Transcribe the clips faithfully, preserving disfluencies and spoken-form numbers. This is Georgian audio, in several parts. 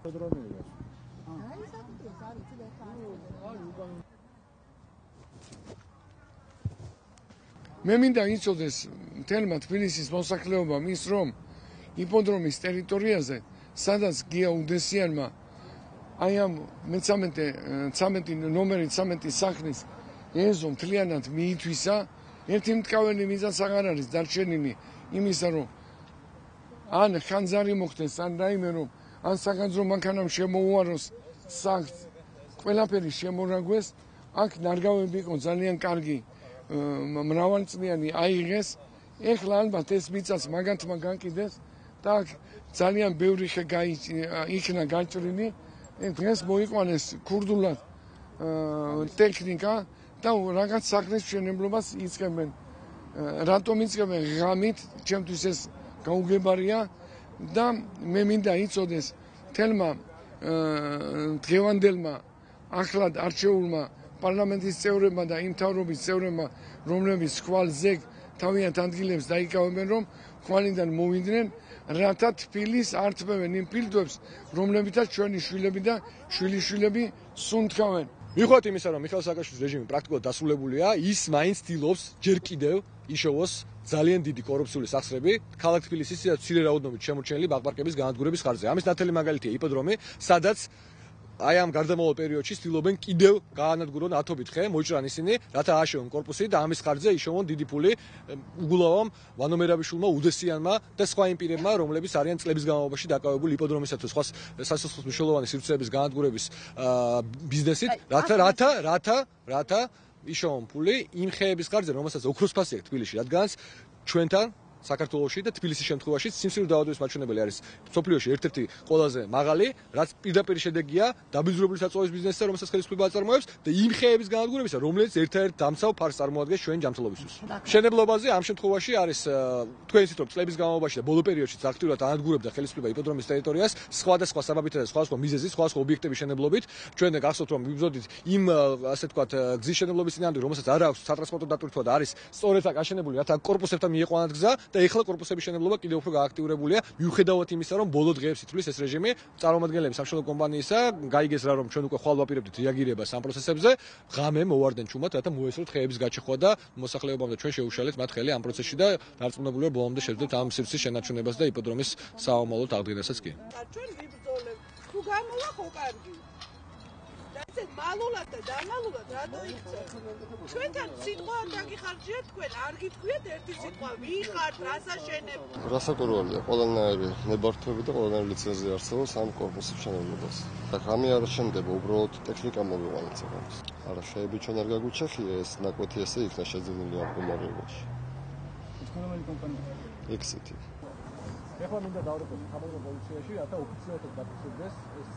იფოდრომეა. აი საკუთროს არის ცოტა ხარ. აი უკან მე მინდა იცოდეს მთელმა თბილისის მოსახლეობამ ის რომ იპოდრომის ტერიტორიაზე სადაც გია უდესიანმა აი ამ მეცამეტე ნომერი ცამეტი სახლის ეზო მთლიანად მიითვისა ერთი მტკავენი მიზანს აღარ არის დარჩენილი იმისა რომ ან ხანძარი მოხდეს ან რაიმე რომ ან სახანძრო მანქანამ შემოუაროს სახლს ყველაფერი შემორაგვეს აქ ნარგავები იყო ძალიან კარგი მრავალწლიანი აიღეს ეხლა ალბათ ეს მიწას მაგათმა განკიდეს და ძალიან ბევრი ხე იქნა გაჭრილი დღეს მოიყვანეს ქურდულად ტექნიკა და რაღაც სახლის მშენებლობას იწყებენ რატომ იწყებენ ღამით ჩემთვის ეს გაუგებარია და მე მინდა იცოდეს თელმა დღევანდელმა ახლად არჩეულმა პარლამენტის წევრებმა და იმ მთავრობის წევრებმა რომლებიც ხვალზე თავიანთ ადგილებს დაიკავებენ რომ ხვალიდან მოვიდნენ რათა თბილის ართმევენ იმ ფილტვებს რომლებითაც ჩვენი შვილები და შვილიშვილები სუნთქავენ მიხოთ იმისა რომ მიხეილ სააკაშვილის რეჟიმი პრაქტიკულად დასრულებულია ის მაინც ცდილობს ჯერ კიდევ იშოვოს ძალიან დიდი კორუფციული სახსრები ქალაქ თბილისის მცირე რაოდენობით შემორჩენილი ბაღ-პარკების განადგურების ხარჯზე ამის ნათელი მაგალითია იპოდრომი სადაც აი ამ გარდამავალ პერიოდში ცდილობენ კიდევ გაანადგურონ ათობით ხე, მოიჭრან ისინი, რათა ააშენონ კორპუსი და ამის ხარჯზე იშოვონ დიდი ფული უგულავამ ვანო მერაბიშვილმა, უდესიანმა და სხვა იმ პირებმა, რომლებიც არიან წლების განმავლობაში დაკავებული იპოდრომისა თუ სხვა სასახლოს მნიშვნელოვანი სივრცეების განადგურების ბიზნესით, რათა რათა რათა რათა იშოვონ ფული იმ ხეების ხარჯზე, რომელსაც ოქროს ფასი აქვს თბილისში, რადგანაც ჩვენთან საქართველოში და თბილისის შემთხვევაში სიმსივნის დაავადების მაჩვენებელი არის სოფლიოში ერთ-ერთი ყველაზე მაღალი, რაც პირდაპირ შედეგია დაბინძურებული საწვავის ბიზნესზე, რომელსაც ხელისუფლება აწარმოებს და იმ ხეების განადგურებისა, რომელიც ერთ-ერთ დამცავ ფარს წარმოადგენს ჩვენი ჯანმრთელობისთვის. მშენებლობაზე ამ შემთხვევაში არის თქვენ იცით რომ წლების განმავლობაში და ბოლო პერიოდში აქტიურად ანადგურებდა ხელისუფლება იპოდრომის ტერიტორიას სხვადასხვა საბაბითა და სხვადასხვა მიზეზით, სხვადასხვა ობიექტების შენებლობით. ჩვენ გახსოვთ რომ ვიბრძოდით იმ ასე ვთქვათ გზის შენებლობის წინააღმდეგ, რომელსაც არ აქვს სატრანსპორტო დატვირთვა და არის სწორედ აქ აშენებული, რათა კორპუსებთან მიიყვანათ გზა და ეხლა კორპუსების შენებლობა კიდევ უფრო გააქტიურებულია მიუხედავად იმისა რომ ბოლო დღეებში თვლის ეს რეჟიმი წარმომადგენლები სამშენებლო კომპანიისა გაიგეს რა რომ ჩვენ უკვე ხვალ ვაპირებდით რეაგირებას ამ პროცესებზე ღამე მოვარდნენ ჩუმად რათა მოესწროთ ხეების გაჩეხვა და მოსახლეობამ და ჩვენ შეუშალეთ მათ ხელი ამ პროცესში და დარწმუნებული ვარ ბოლომდე შევძლებთ ამ სივრცის შენარჩუნებას და იპოდრომის საომალოდ აღდგენასაც კი ჩვენ ვიბრძოლებთ თუ გამოვა ხო კარგი ეს მალულად და დამალულად რატო იქცევ? ჩვენთან სიტყვა არ დაგიხარჯიათ თქვენ, არ გითქვიათ ერთი სიტყვა, ვიხართ, რას აშენებ? რასაკურველია ყველანაირი ნებართვები და ყველანაირი ლიცენზია არსებობს ამ კორპუსის მშენებლობას. და რამე არ შემდება, უბრალოდ ტექნიკა მოვიყვანეთ ამას. არა, შეები ჩვენ არ გაგვიჩეხია ეს ნაკვეთი ესე იქნა შეძენილი ამ მდგომარეობაში. თქვენ რომელი კომპანია? ექსიტი. ეხლა მინდა დავრეკოთ სამხედრო პოლიციაში, რათა ოფიციალურად დაფიქსირდეს ეს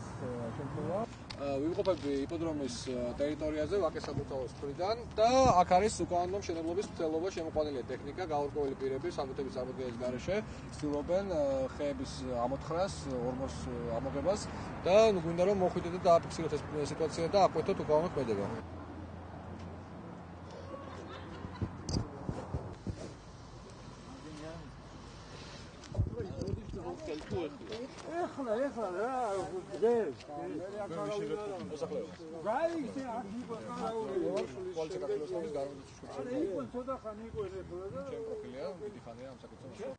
შემთხვევა. ვიმყოფები იპოდრომის ტერიტორიაზე ვაკეს საკუთაოს მხრიდან და აქ არის უკანონო მშენებლობის მცდელობა შემოყვანილია ტექნიკა, გაურკვეველი პირები სამუთების წარმოდგენის გარეშე ცდილობენ ხეების ამოთხრას, ორმოს ამოღებას და გვინდა რომ მოხვიდეთ და დააფიქსიროთ ეს სიტუაცია და აკვეთოთ უკანონო ქმედება. ეხლა ეხლა რა გზებს მე აქ არავინ მოსახლეობა რა ისე აქ იყო არავინ პოლიცია გახლოს გამის გარემოს შუქს არა იყო ცოტა ხანი იყო ეს და ჩემ პროფილია დიდი ხანია ამ საკითხში